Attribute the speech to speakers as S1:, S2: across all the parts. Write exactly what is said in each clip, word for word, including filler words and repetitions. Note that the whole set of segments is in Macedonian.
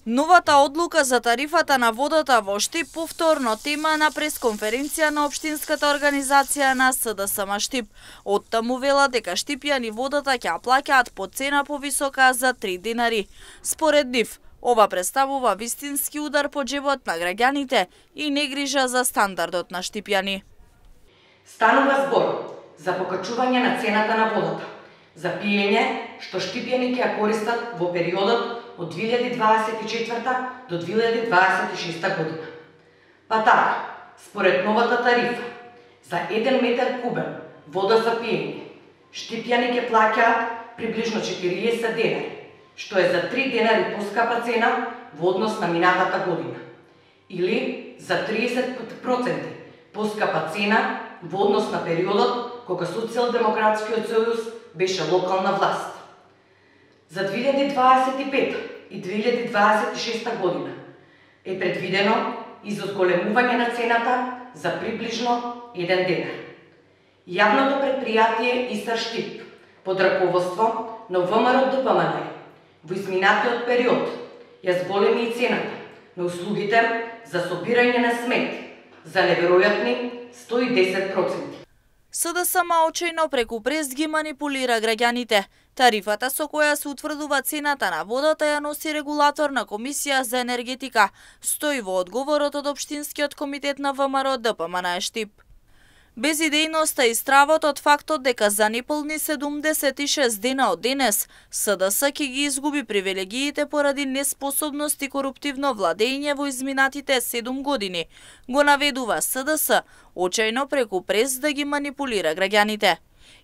S1: Новата одлука за тарифата на водата во Штип повторно тема на пресконференција на општинската организација на СДСМ Штип. Оттаму вела дека штипјани водата ќе плаќаат по цена повисока за три динари. Според нив, ова представува вистински удар по џебот на граѓаните и негрижа за стандардот на штипјани.
S2: Станува збор за покачување на цената на водата за пиење што штипјани ќе ја користат во периодот од две илјади дваесет и четврта до две илјади дваесет и шеста година. Па така, според новата тарифа, за еден метар кубен вода за пиење, штипјани ќе плаќаат приближно четириесет денари, што е за три денари поскапа цена во однос на минатата година, или за триесет проценти поскапа цена во однос на периодот кога Социјалдемократскиот сојуз беше локална власт. За две илјади дваесет и пета и две илјади дваесет и шеста година е предвидено изозголемување на цената за приближно еден денар. Јавното предпријатие ИСАР Штип под раководство на ВМРО-ДПМН во изминатиот период ја зголеми и цената на услугите за собирање на смет за неверојатни сто и десет проценти.
S1: СДСМ очајно преку прес ги манипулира граѓаните. Тарифата со која се утврдува цената на водата ја носи регулаторна комисија за енергетика, стои во одговорот од Општинскиот комитет на ВМРО-ДПМН Штип. Безидејноста и стравот од фактот дека за неполни седумдесет и шест дена од денес СДС ќе ги изгуби привилегиите поради неспособност и коруптивно владење во изминатите седум години, го наведува СДС очајно преку прес да ги манипулира граѓаните.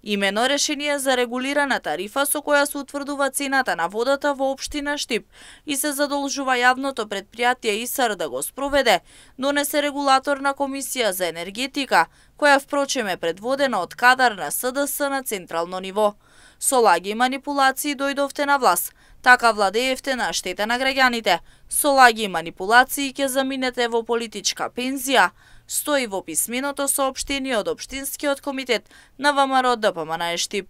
S1: Имено решение за регулирана тарифа со која се утврдува цената на водата во општина Штип и се задолжува јавното предпријатие ИСАР да го спроведе, донесе регулаторна комисија за енергетика, која впрочем е предводена од кадар на СДС на централно ниво. Со лаги и манипулации дојдовте на власт, така владеевте на штета на граѓаните. Со лаги и манипулации ќе заминете во политичка пензија, стои во писменото соопштение од Општинскиот комитет на ВМРО-ДПМН Штип.